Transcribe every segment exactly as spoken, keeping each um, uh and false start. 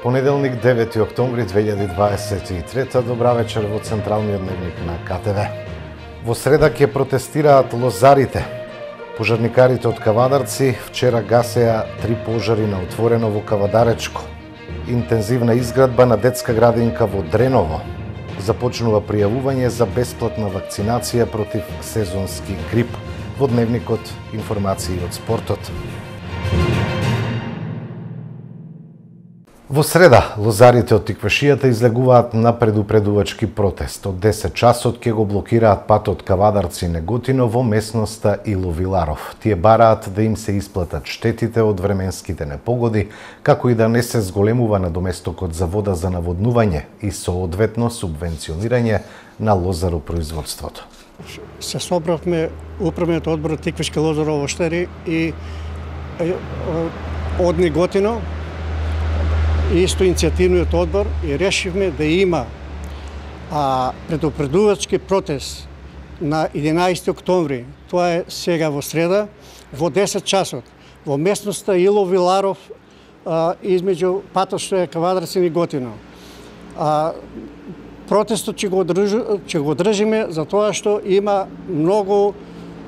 Понеделник, девети октомври две илјади дваесет и трета, добра вечер во Централниот дневник на К Т В. Во среда ќе протестираат лозарите. Пожарникарите од Кавадарци вчера гасеа три пожари на отворено во Кавадаречко. Интензивна изградба на детска градинка во Дреново. Започнува пријавување за бесплатна вакцинација против сезонски грип. Во дневникот информации од спортот. Во среда, лозарите од Тиквашијата излегуваат на предупредувачки протест. Од десет часот ќе го блокираат патот Кавадарци-Неготино во местноста Иловиларов. Тие бараат да им се исплатат штетите од временските непогоди, како и да не се зголемува надоместокот за вода за наводнување и соодветно субвенционирање на лозаропроизводството. Се собравме управниот одбор Тиквишки лозарово оштари и од Неготино и исто иницијативниот одбор и решивме да има а, предупредувачки протест на единаесети октомври. Тоа е сега во среда во десет часот во местноста Иловиларов а, измеѓу патот што е Кавадарци и Неготино. А, протестот ќе го, држ, ќе го држиме за тоа што има многу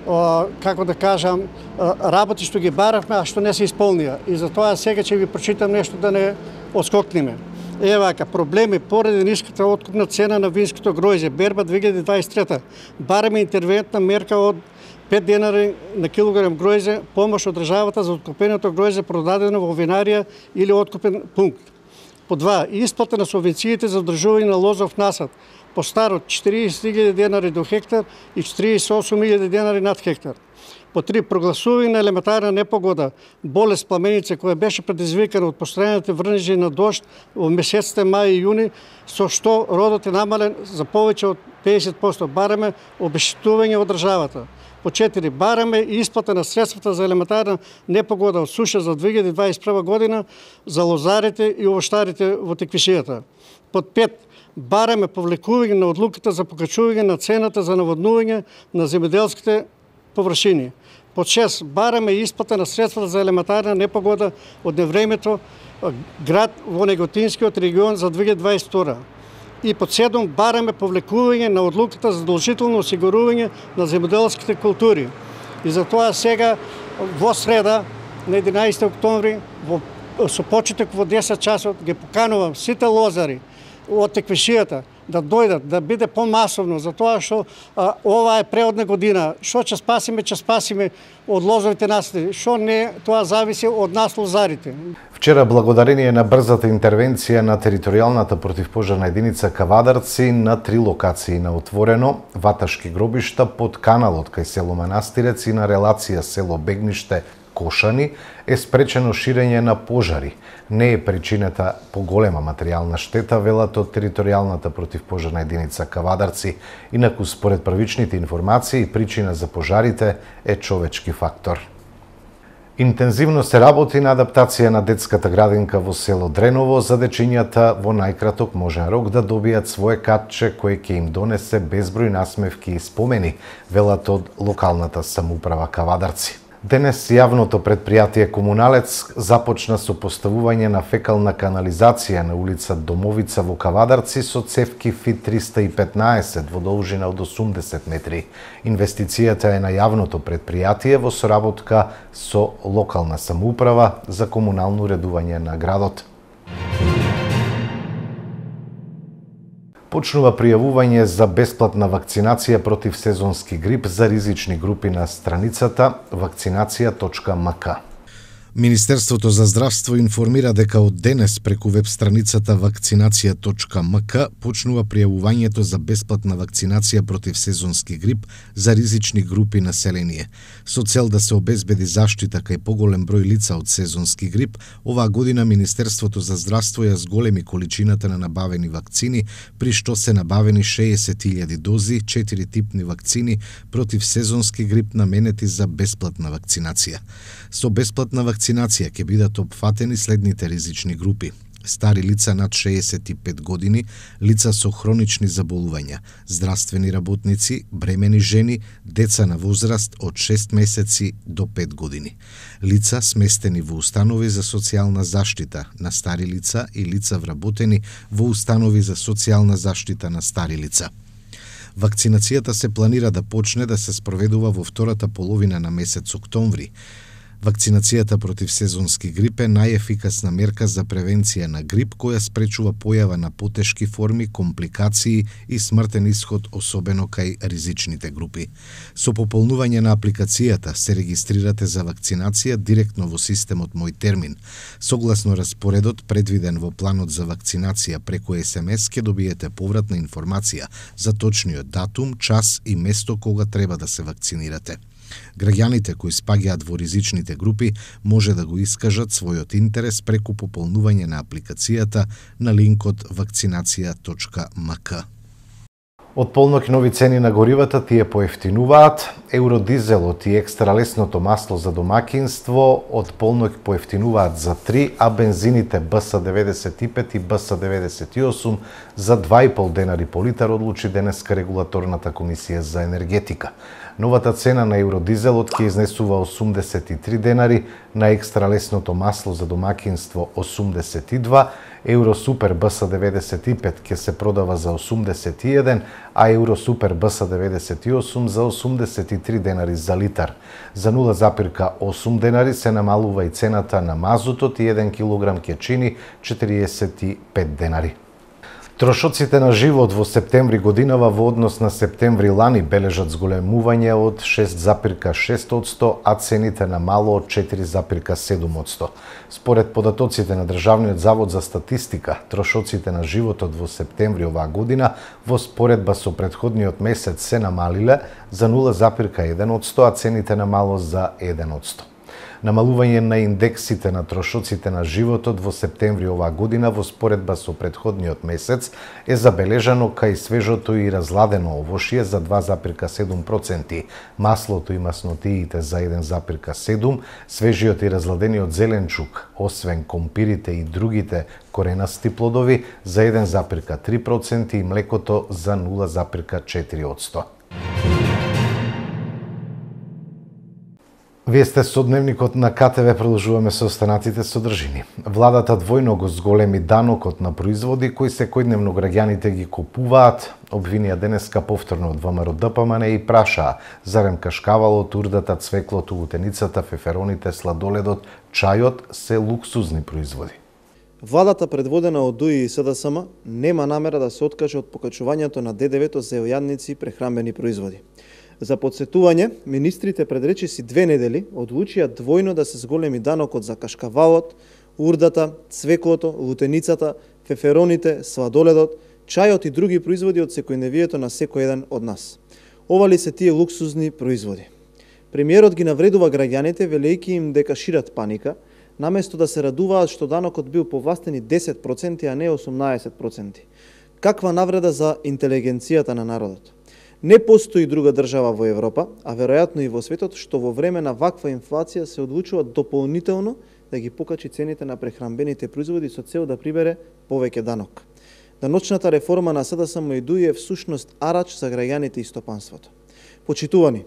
Uh, како да кажам, uh, работи што ги баравме, а што не се исполнија. И затоа сега ќе ви прочитам нешто да не отскокнеме. Е вака, проблеми поради ниската откупна цена на винското гројзе, берба две илјади дваесет и трета, бараме интервентна мерка од пет денари на килограм гројзе, помош од државата за откупеното гројзе продадено во винарија или откупен пункт. По два, исплата на субвенциите за одржување на лозов насад, по старот четириесет илјади денари до хектар и четириесет и осум илјади денари над хектар. По три, прогласување на елементарна непогода, болест пламеница која беше предизвикана од постојаните врнежи на дожд во месеците мај и јуни, со што родот е намален за повеќе од педесет проценти. Бараме обештетување од државата. По четири, бараме и исплата на средствата за елементарна непогода од суша за две илјади дваесет и прва година за лозарите и овоштарите во Тиквишијата. Под пет, бараме повлекување на одлуката за покачување на цената за наводнување на земјоделските површини. Под шест, бараме исплата на средствата за елементарна непогода од невремето град во Неготинскиот регион за две илјади дваесет и втора. И под седум, бараме повлекување на одлуката за задолжително осигурување на земјоделските култури. И затоа сега во среда на единаесети октомври во со почеток во десет часот ги поканувам сите лозари од Тиквишијата да дојдат, да биде помасовно, затоа што а, ова е преодна година. Што ќе спасиме, ќе спасиме од лозовите насади. Што не, тоа зависи од нас лозарите. Вчера, благодарение на брзата интервенција на територијалната противпожарна единица Кавадарци на три локации на отворено, ваташки гробишта под каналот кај село Манастирец и на релација село Бегниште Кошани е спречено ширење на пожари. Не е причината поголема материјална штета, велат од територијалната противпожарна единица Кавадарци. Инаку, според првичните информации, причина за пожарите е човечки фактор. Интензивно се работи на адаптација на детската градинка во село Дреново за дечињата во најкраток можен рок да добијат свое катче кое ќе им донесе безброј насмевки и спомени, велат од локалната самоуправа Кавадарци. Денес јавното предпријатие Комуналец започна со поставување на фекална канализација на улица Домовица во Кавадарци со цевки Фит триста и петнаесет во должина од осумдесет метри. Инвестицијата е на јавното предпријатие во соработка со локална самоуправа за комунално уредување на градот. Почнува пријавување за бесплатна вакцинација против сезонски грип за ризични групи на страницата вакцинација точка ем ка. Министерството за здравство информира дека од денес преку веб страницата вакцинација точка ем ка почнува пријавувањето за бесплатна вакцинација против сезонски грип за ризични групи население. Со цел да се обезбеди заштита кај поголем број лица од сезонски грип, оваа година Министерството за здравство ја зголеми количината на набавени вакцини, при што се набавени шеесет илјади дози, четири типни вакцини против сезонски грип наменети за бесплатна вакцинација. Со бесплатна вакцинација ќе бидат опфатени следните ризични групи: стари лица над шеесет и пет години, лица со хронични заболувања, здравствени работници, бремени жени, деца на возраст од шест месеци до пет години, лица сместени во установи за социјална заштита на стари лица и лица вработени во установи за социјална заштита на стари лица. Вакцинацијата се планира да почне да се спроведува во втората половина на месец октомври. Вакцинацијата против сезонски грип е најефикасна мерка за превенција на грип која спречува појава на потешки форми, компликации и смртен исход особено кај ризичните групи. Со пополнување на апликацијата се регистрирате за вакцинација директно во системот Мој термин. Согласно распоредот предвиден во планот за вакцинација преку ес ем ес ќе добиете повратна информација за точниот датум, час и место кога треба да се вакцинирате. Граѓаните кои спаѓаат во ризичните групи може да го искажат својот интерес преку пополнување на апликацијата на линкот вакцинација точка ем ка. Од полноќ нови цени на горивата тие поевтинуваат. Евродизелот и екстралесното масло за домакинство од полноќ поевтинуваат за три, а бензините Б С деветдесет и пет и Б С деветдесет и осум за два и пол денари по литар, одлучи денеска регулаторната комисија за енергетика. Новата цена на евродизелот ќе изнесува осумдесет и три денари, на екстралесното масло за домакинство осумдесет и два, Евросупер Б С деветдесет и пет ќе се продава за осумдесет и еден, а Евросупер Б С деветдесет и осум за осумдесет и три денари за литар. За нула запирка осум денари се намалува и цената на мазутот и еден килограм ќе чини четириесет и пет денари. Трошоците на живот во септември годинава во однос на септември лани бележат зголемување од шест запирка шест одсто, а цените на мало од четири запирка седум одсто. Според податоците на Државниот завод за статистика, трошоците на животот во септември оваа година во споредба со претходниот месец се намалиле за нула запирка еден одсто, а цените на мало за еден одсто. Намалување на индексите на трошоците на животот во септември оваа година во споредба со претходниот месец е забележано кај свежото и разладено овошје за два запирка седум проценти, маслото и маснотиите за еден запирка седум, свежиот и разладениот зеленчук, освен компирите и другите коренасти плодови, за еден запирка три проценти и млекото за нула запирка четири одсто. Вие сте со дневникот на Ка Те Ве, продолжуваме со останатите содржини. Владата двојно го зголеми данокот на производи кои секојдневно граѓаните ги купуваат, обвинија денеска повторно од Вэ Ем Р Д П М Н и прашаа зарем кашкавалот, урдата, цвеклото, утеницата, фефероните, сладоледот, чајот се луксузни производи. Владата предводена од Д У И и С Д С М нема намера да се откаже од покачувањето на Д Д В-то за јадници и прехранбени производи. За подсетување, министрите пред речиси две недели одлучија двојно да се зголеми данокот за кашкавалот, урдата, цвеклото, лутеницата, фефероните, сладоледот, чајот и други производи од секојдневието на секој еден од нас. Ова ли се тие луксузни производи? Премиерот ги навредува граѓаните велејќи им дека шират паника, наместо да се радуваат што данокот бил повластени десет проценти, а не осумнаесет проценти. Каква навреда за интелигенцијата на народот? Не постои друга држава во Европа, а веројатно и во светот, што во време на ваква инфлација се одлучува дополнително да ги покачи цените на прехранбените производи со цел да прибере повеќе данок. Даночната реформа на С Д С М и Д У И е всушност арач за граѓаните и стопанството. Почитувани,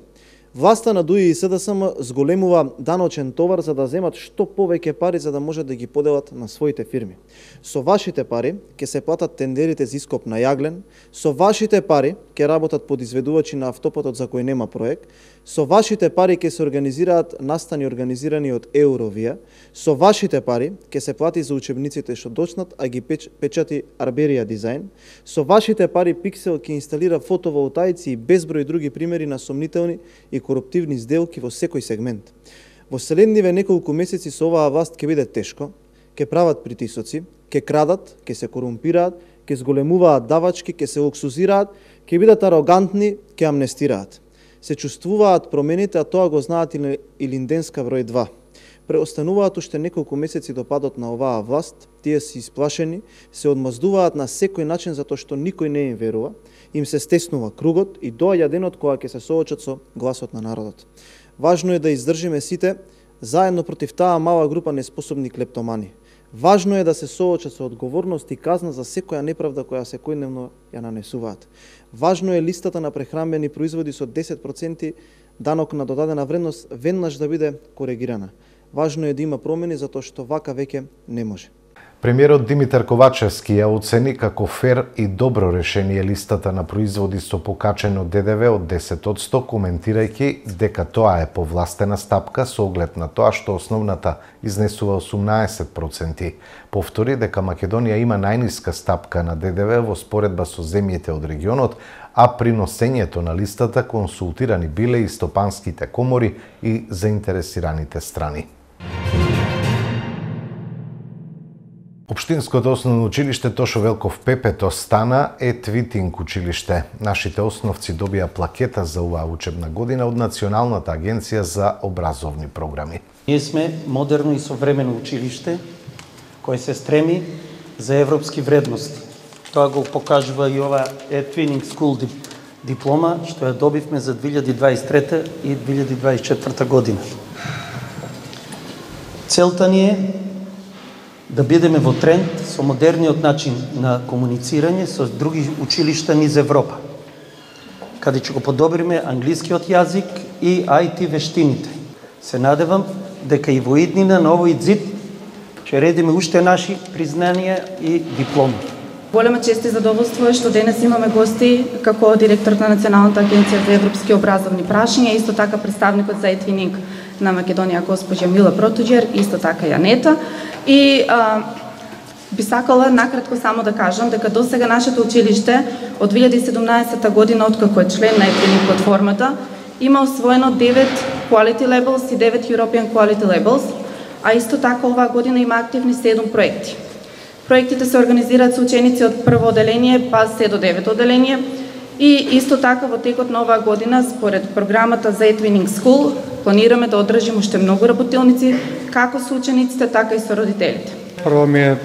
власта на Д У И и С Д С М зголемува даночен товар за да земат што повеќе пари за да можат да ги поделат на своите фирми. Со вашите пари ќе се платат тендерите за ископ на јаглен, со вашите пари ќе работат подизведувачи на автопатот за кој нема проект, со вашите пари ќе се организираат настани организирани од Евровија, со вашите пари ќе се плати за учебниците што дочнат, а ги печ, печати Арберија дизајн, со вашите пари Пиксел ќе инсталира фотоволтаици и безброј други примери на сомнителни и коруптивни сделки во секој сегмент. Во следниве неколку месеци со оваа власт ќе биде тешко, ќе прават притисоци, ќе крадат, ќе се корумпираат, ќе зголемуваат давачки, ќе се луксузираат, ќе бидат арогантни, ќе амнестираат. Се чувствуваат промените, а тоа го знаат и Илинденска број два. Преостануваат уште неколку месеци до падот на оваа власт, тие се исплашени, се одмаздуваат на секој начин затоа што никој не им верува, им се стеснува кругот и доаѓа денот кога ќе се соочат со гласот на народот. Важно е да издржиме сите заедно против таа мала група неспособни клептомани. Важно е да се соочат со одговорност и казна за секоја неправда која секојдневно ја нанесуваат. Важно е листата на прехранбени производи со десет проценти данок на додадена вредност веднаш да биде коригирана. Важно е да има промени затоа што вака веќе не може. Премиерот Димитар Ковачевски ја оцени како фер и добро решение листата на производи со покачено Д Д В од десет одсто, коментирајќи дека тоа е повластена стапка со оглед на тоа што основната изнесува осумнаесет проценти. Повтори дека Македонија има најниска стапка на Д Д В во споредба со земјите од регионот, а при носењето на листата консултирани биле и стопанските комори и заинтересираните страни. Општинското основно училиште Тошо Велков Пепето стана Етвитинг училиште. Нашите основци добија плакета за оваа учебна година од Националната агенција за образовни програми. Ние сме модерно и современо училиште кој се стреми за европски вредности. Тоа го покажува и ова Etwinning School диплома што ја добивме за две илјади дваесет и трета и две илјади дваесет и четврта година. Целта ни е да бидеме во тренд со модерниот начин на комуницирање со други училишта низ Европа, каде ќе го подобриме англискиот јазик и Ай Ти вештините. Се надевам дека и во иднина на овој ЗИД ќе редиме уште наши признанија и дипломи. Голема чест и задоволство е што денес имаме гости како директорот на Националната агенција за европски образовни прашања, исто така представникот за Етвининг на Македонија госпоѓа Мила Протуѓер, исто така Јанета. И а, би сакала накратко само да кажам дека до сега нашето училиште од две илјади и седумнаесета година, откако е член на Етвининг платформата, има освоено девет Quality Labels и девет European Quality Labels, а исто така оваа година има активни седум проекти. Проектите се организираат со ученици од прво оделение па се до девето оделение и исто така во текот на оваа година според програмата за Etwinning School планираме да одржиме уште многу работилници како со учениците, така и со родителите. Прво ми е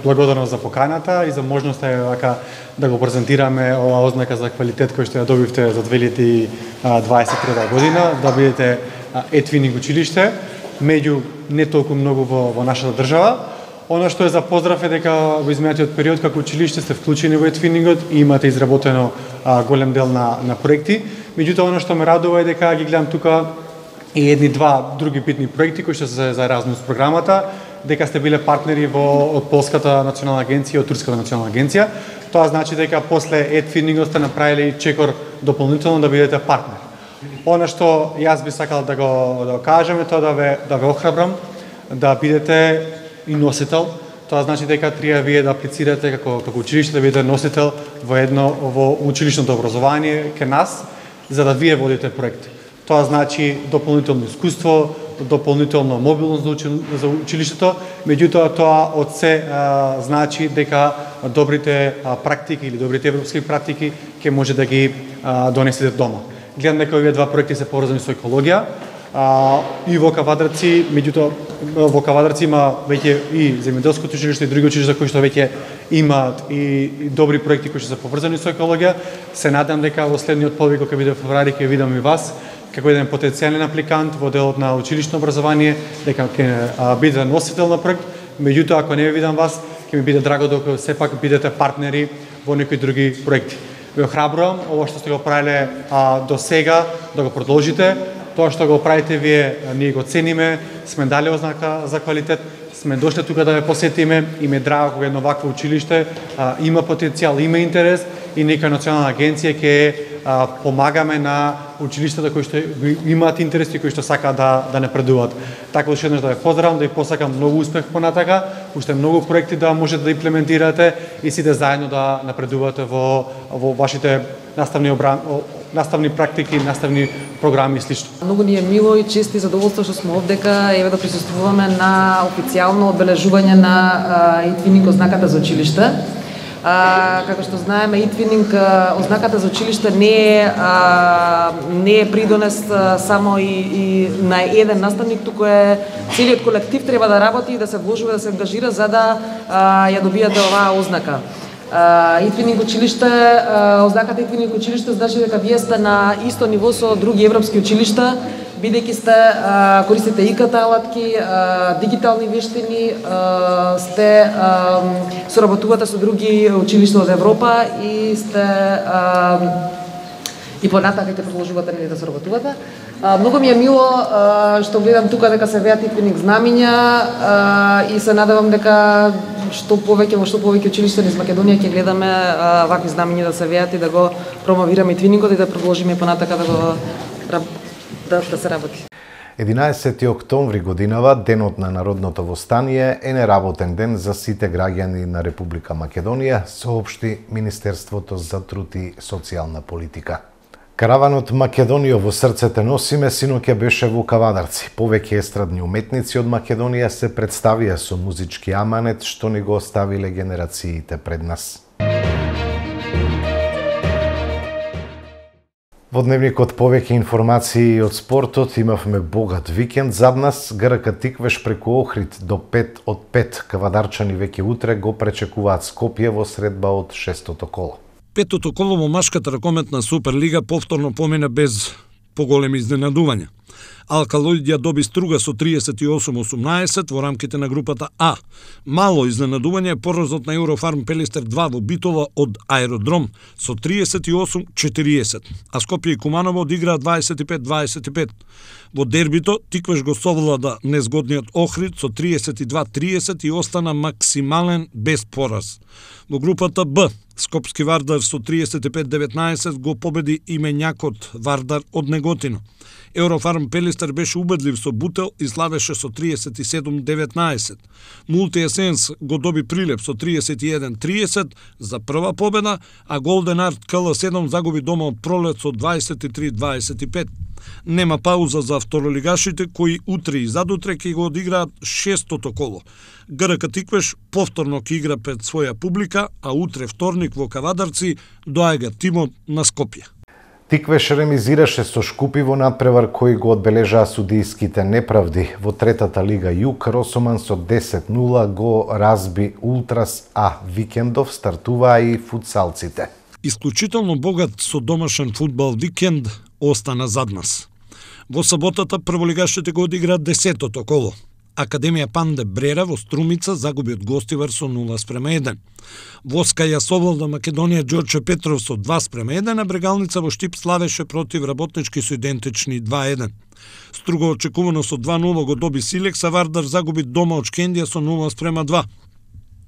благодарност за поканата и за можноста вака да го презентираме оваа ознака за квалитет кој што ја добивте за две илјади дваесет и трета година, да бидете Etwinning училиште, меѓу не толку многу во, во нашата држава. Она што е за поздрав е дека во изминатиот период како училиште сте вклучени во Етвинингот и имате изработено а, голем дел на, на проекти. Меѓутоа, она што ме радува е дека ги гледам тука и едни два други битни проекти кои што се за Еразмус програмата, дека сте биле партнери во од Полската национална агенција и од Турската национална агенција. Тоа значи дека после Етвинингот сте направиле чекор дополнително да бидете партнер. Она што јас би сакал да го да го кажам е тоа да ве да ве охрабрам да бидете и носител. Тоа значи дека треба вие да аплицирате како како училиште да бидете носител во едно во училишното образование кај нас, за да вие водите проекти. Тоа значи дополнително искуство, дополнително мобилност за училиштето, меѓутоа тоа од се а, значи дека добрите а, практики или добрите европски практики ќе може да ги а, донесете дома. Гледам дека овие два проекти се поврзани со екологија. А, и во Кавадарци, меѓутоа во Кавадарци има веќе и земјоделското училиште и други училишта кои што веќе имаат и, и добри проекти кои што се поврзани со екологија. Се надам дека во следниот повик кога биде во февруари ќе видам и вас како еден потенцијален апликант во делот на училишно образование, дека ќе биде носител на проект. Меѓутоа ако не ви видам вас, ќе ми биде драго дека сепак бидете партнери во некои други проекти. Ве охрабрувам ова што сте го правиле а, до сега да го продолжите. Тоа што го правите вие, ние го цениме, сме дали ознака за квалитет, сме дошле тука да ве посетиме и ме драго кога едно вакво училиште а, има потенцијал, има интерес и нека Национална агенција ќе а, помагаме на училиштата кои што имаат интерес и кои што сакаат да да напредуваат. Така уште еднаш да ве поздравам, да ви посакам многу успех понатака, уште многу проекти да можете да имплементирате и сите заедно да напредувате во во вашите наставни обран наставни практики, наставни програми и слично. Многу ни е мило и чест и задоволство што сме овдека еве да присуствуваме на официјално одбележување на Etwinning ознаката за училиште. А, како што знаеме, Etwinning ознаката за училиште не е а, не е придонес а, само и, и на еден наставник, туку е целиот колектив треба да работи и да се вложува, да се ангажира за да а, ја добиете оваа ознака. Etwinning училиште, ознаката Etwinning училиште значи дека вие сте на исто ниво со други европски училишта, бидејќи сте а, користите и ка те алатки, а, дигитални вештини, а, сте а, соработувате со други училишта од Европа и сте а, и понатака ќе продолжувате нели да соработувате. А, многу ми е мило а, што гледам тука дека се веат итвиник знамиња а, и се надевам дека што повеќе во што повеќе училишта низ Македонија ќе гледаме а, вакви знамиња да се веат и да го промовираме итвиникот и да продолжиме понатака да го да, да се работи. единаесети октомври годинава, денот на Народното востание, е неработен ден за сите граѓани на Република Македонија, соопшти Министерството за труд и социјална политика. Караванот Македонија во срцете носиме синоќа беше во Кавадарци. Повеќе естрадни уметници од Македонија се представија со музички аманет што ни го оставиле генерациите пред нас. Во дневникот повеќе информации од спортот, имавме богат викенд зад нас. ГРК Тиквеш преку Охрид до пет од пет. Кавадарчани веќе утре го пречекуваат Скопје во средба од шестото коло. Петото коло во машката ракометна Суперлига повторно помина без поголеми изненадувања. Алкалоидија доби Струга со триесет и осум осумнаесет во рамките на групата А. Мало изненадување е поразот на Еврофарм Пелистер два во Битола од Аеродром со триесет и осум четириесет, а Скопје и Куманово одиграа дваесет и пет дваесет и пет. Во дербито Тиквеш го совлада незгодниот Охрид со триесет и два триесет и остана максимален без пораз. Во групата Б Скопски Вардар со триесет и пет деветнаесет го победи именјакот Вардар од Неготино. Еврофарм Пелистер беше убедлив со Бутел и славеше со триесет и седум деветнаесет. Мултиесенс го доби Прилеп со триесет и еден триесет за прва победа, а Голден Арт К Л седум загуби дома од Пролет со дваесет и три дваесет и пет. Нема пауза за второлигашите кои утре и задутре ќе го одиграат шестото коло. ГРК Тиквеш повторно ќе игра пред своја публика, а утре вторник во Кавадарци доаѓа тимот на Скопје. Тиквеш ремизираше со Шкупи во надпревар кој го одбележаа судијските неправди. Во третата лига Југ Росоман со десет нула го разби Ултрас, а викендов стартуваа и футсалците. Исклучително богат со домашен фудбал викенд остана зад нас. Во саботата прволигашите го одиграат десетото коло. Академија Панде Брера во Струмица загуби од Гостивар со нула спрема еден. Воска ја совлада Македонија Ѓорче Петров со два спрема еден, а Брегалница во Штип славеше против Работнички со идентични два еден. Струго очекувано со два нула го доби Силекс, а Вардар загуби дома од Шкендија со нула спрема два.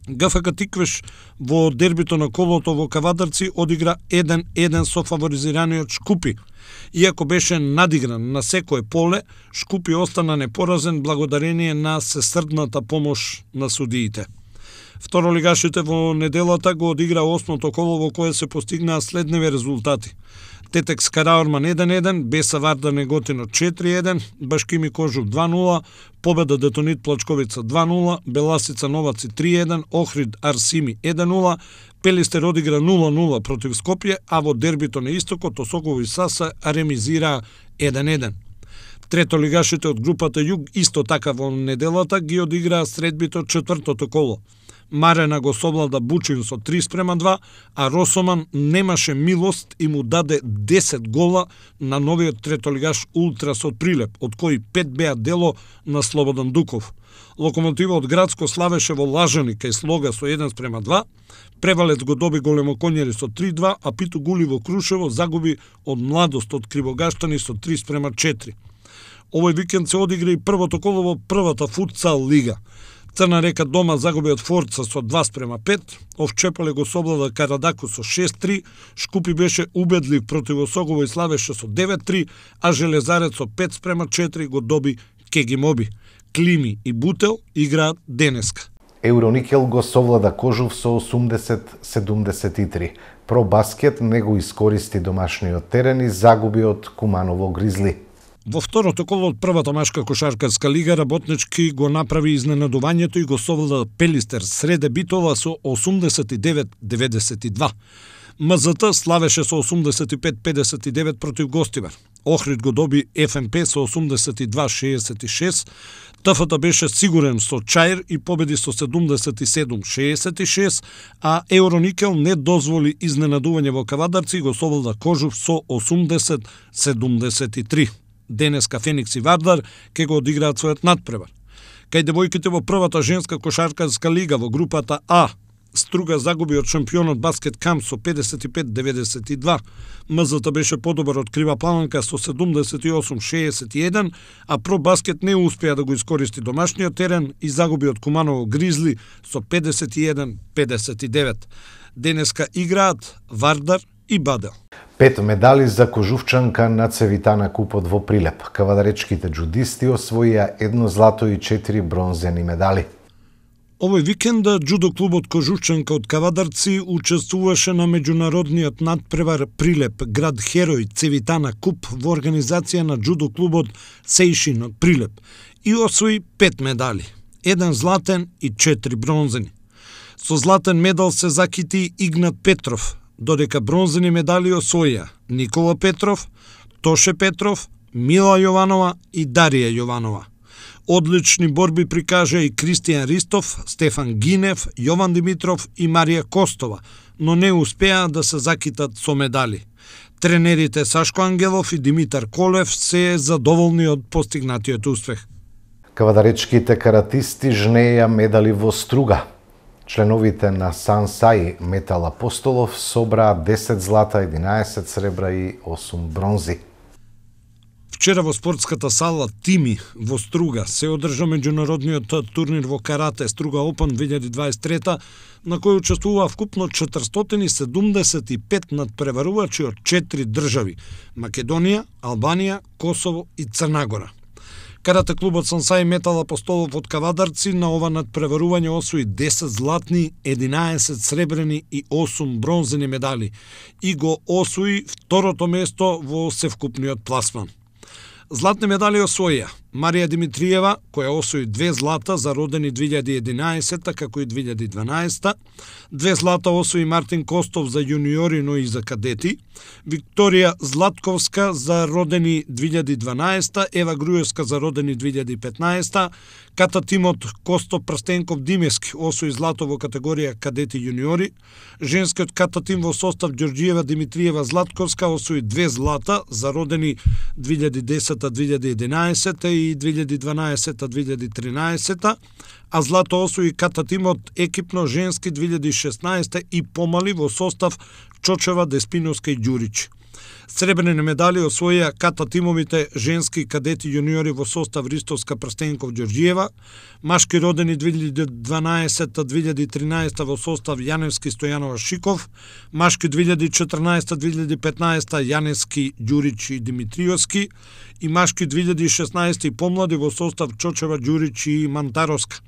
ГФК Тиквеш во дербито на колото во Кавадарци одигра еден еден со фаворизираниот Шкупи. Иако беше надигран на секое поле, Шкупи остана непоразен благодарение на сесрдната помош на судиите. Второлигашите во неделата го одигра осмото коло во кое се постигнаа следневи резултати. Тетекс Караорман еден еден, Беса Вардар Неготино четири еден, Башкими Кожук два нула, Победа Детонит Плачковица два нула, Беласица Новаци три еден, Охрид Арсими еден нула, Пелистер одигра нула нула против Скопје, а во дербито на истокот Осогово и Саса ремизираа еден еден. Третолигашите од групата Југ исто така во неделата ги одиграа средбито четвртото коло. Марена го совлада Бучин со три спрема два, а Росоман немаше милост и му даде десет гола на новиот третолигаш Ултрас од Прилеп, од кои пет беа дело на Слободан Дуков. Локомотива од Градско славеше во Лажани кај Слога со еден спрема два, Превалец го доби Големоконјери со три два, а Питу Гули во Крушево загуби од Младост од Кривогаштани со три спрема четири. Овој викенд се одигра и првото коло во првата футсал лига. Црна Река дома загуби од Форца со два спрема пет, Овчепале го соблада Карадаку со шест три, Шкупи беше убедлив против Осогово и славеше со девет три, а Железарец со пет спрема четири го доби Кегимоби. Клими и Бутел играат денеска. Евроникел го совлада Кожув со осумдесет седумдесет и три. Пробаскет не го искористи домашниот терен и загуби од Куманово Гризли. Во второто коло од првата машка кошаркарска лига Работнички го направи изненадувањето и го совлада Пелистер среде Битола со осумдесет и девет деветдесет и два. МЗТ славеше со осумдесет и пет педесет и девет против Гостивар. Охрид го доби Ф М П со осумдесет и два шеесет и шест. ТФТ беше сигурен со Чаир и победи со седумдесет и седум шеесет и шест, а Евроникел не дозволи изненадување во Кавадарци и го совлада Кожув со осумдесет седумдесет и три. Денеска Феникс и Вардар ќе го одиграат својот надпревар. Кај девојките во првата женска кошаркарска лига во групата А, Струга загуби од шампионот Баскет Камп со педесет и пет деветдесет и два, МЗТ беше подобар од Крива Планинка со седумдесет и осум шеесет и еден, а Про Баскет не успеа да го искористи домашниот терен и загуби од Куманово Гризли со педесет и еден педесет и девет. Денеска играат Вардар и Бадел. Пет медали за кожувчанка на Цевитана купот во Прилеп. Кавадаречките джудисти освоија едно злато и четири бронзени медали. Овој викенд џудо клубот Кожувчанка од Кавадарци учествуваше на меѓународниот надпревар Прилеп, град Херој, Цевитана куп во организација на џудо клубот Сејшин од Прилеп и освои пет медали, еден златен и четири бронзени. Со златен медал се закити Игнат Петров, додека бронзени медали освоија Никола Петров, Тоше Петров, Мила Јованова и Дарија Јованова. Одлични борби прикажа и Кристијан Ристов, Стефан Гинев, Јован Димитров и Марија Костова, но не успеа да се закитат со медали. Тренерите Сашко Ангелов и Димитар Колев се задоволни од постигнатиот успех. Кавадаречките каратисти жнеја медали во Струга. Членовите на Сансаи Метал Апостолов собраа десет злата, единаесет сребра и осум бронзи. Вчера во спортската сала Тими во Струга се одржа меѓународниот турнир во карате Струга Опен две илјади дваесет и трета, на кој учествуваа вкупно четиристотини седумдесет и пет надпреварувачи од четири држави – Македонија, Албанија, Косово и Црна Гора. Карате клубот Сансаи Метал Апостолов од Кавадарци на ова надпреварување освои десет златни, единаесет сребрени и осум бронзени медали и го освои второто место во севкупниот пласман. Златни медали освоија Марија Димитриева, која освои две злата за родени две илјади и единаесета, како и две илјади и дванаесета, две злата освои Мартин Костов за јуниори, но и за кадети, Викторија Златковска за родени две илјади и дванаесета, Ева Груевска за родени две илјади и петнаесета, Ката Тимот Косто Прстенков Димески освои злато во категорија кадети јуниори, женскиот ката тим во состав Ѓорѓиева Димитриева Златковска освои две злата за родени две илјади и десета две илјади и единаесета и две илјади и дванаесета две илјади и тринаесета, а злато освои ката тимот екипно женски две илјади и шеснаесета и помали во состав Чочева, Деспиновска и Ѓурич. Сребрени медали освоија ката тимовите женски кадети јуниори во состав Ристовска Прстенков Ѓорѓиева, машки родени две илјади и дванаесета две илјади и тринаесета во состав Јаневски Стојанова Шиков, машки две илјади и четрнаесета две илјади и петнаесета Јаневски Ѓурич и Димитриовски и машки две илјади и шеснаесета и помлади во состав Чочева, Ѓурич и Мантаровска.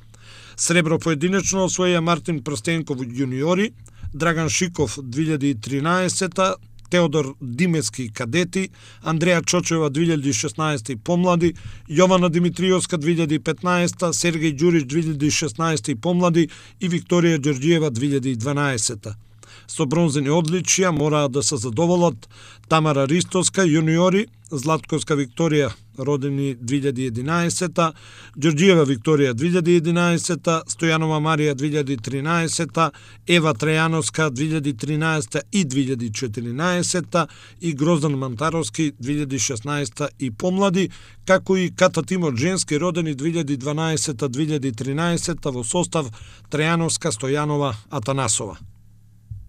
Сребро поединечно освоија Мартин Прстенков јуниори, Драган Шиков две илјади и тринаесета, Теодор Димески кадети, Андреја Чочева две илјади и шеснаесета и помлади, Јована Димитриовска две илјади и петнаесета, Сергеј Ѓурич две илјади и шеснаесета и помлади и Викторија Ѓорѓиева две илјади и дванаесета. Со бронзени одличија мораа да се задоволат Тамара Ристовска јуниори, Златковска Викторија родени две илјади и единаесета, Ѓорѓиева Викторија две илјади и единаесета, Стојанова Марија две илјади и тринаесета, Ева Трајановска две илјади и тринаесета и две илјади и четиринаесета и Гроздан Мантаровски две илјади и шеснаесета и помлади, како и ката тимот женски родени две илјади и дванаесета две илјади и тринаесета во состав Трајановска, Стојанова, Атанасова.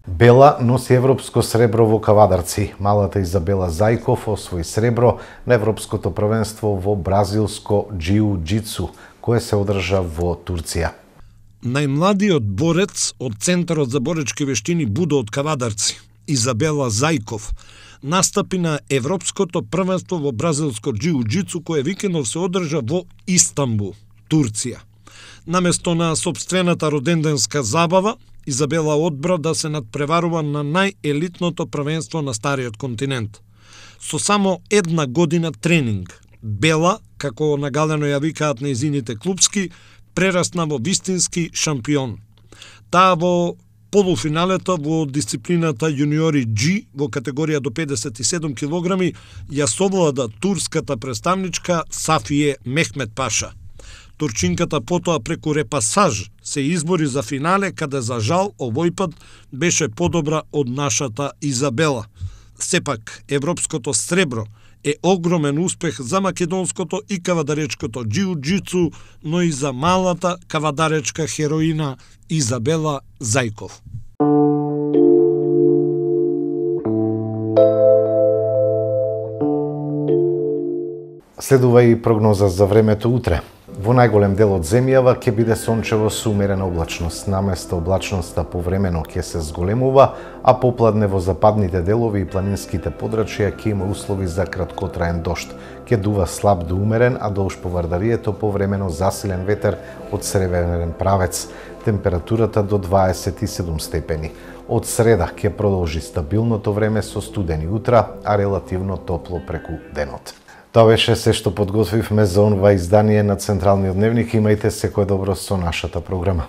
Бела носи европско сребро во Кавадарци. Малата Изабела Зајков освои сребро на европското првенство во бразилско џиу-џицу, кое се одржа во Турција. Најмладиот борец од Центарот за боречки вештини Будо од Кавадарци, Изабела Зајков, настапи на европското првенство во бразилско џиу-џицу, кое викендов се одржа во Истанбул, Турција. Наместо на сопствената роденденска забава, Изабела одбра да се надпреварува на најелитното првенство на стариот континент. Со само една година тренинг, Бела, како нагалено ја викаат нејзините клупски, прерасна во вистински шампион. Таа во полуфиналето во дисциплината јуниори G во категорија до педесет и седум килограми ја совлада турската представничка Сафие Мехмет Паша. Турчинката потоа преку репасаж се избори за финале, каде за жал овој пат беше подобра од нашата Изабела. Сепак, европското сребро е огромен успех за македонското и кавадаречкото џиу-џицу, но и за малата кавадаречка хероина Изабела Зајков. Следува и прогноза за времето утре. Во најголем дел од земјава ќе биде сончево со умерена облачност. Наместо облачноста повремено ќе се зголемува, а попладне во западните делови и планинските подрачја ќе има услови за краткотраен дожд. Ќе дува слаб до умерен, а долж поврдарието повремено засилен ветер од северен правец. Температурата до дваесет и седум степени. Од среда ќе продолжи стабилното време со студени утра, а релативно топло преку денот. Тоа беше се што подготвивме за онова издание на Централниот дневник. Имајте секое добро со нашата програма.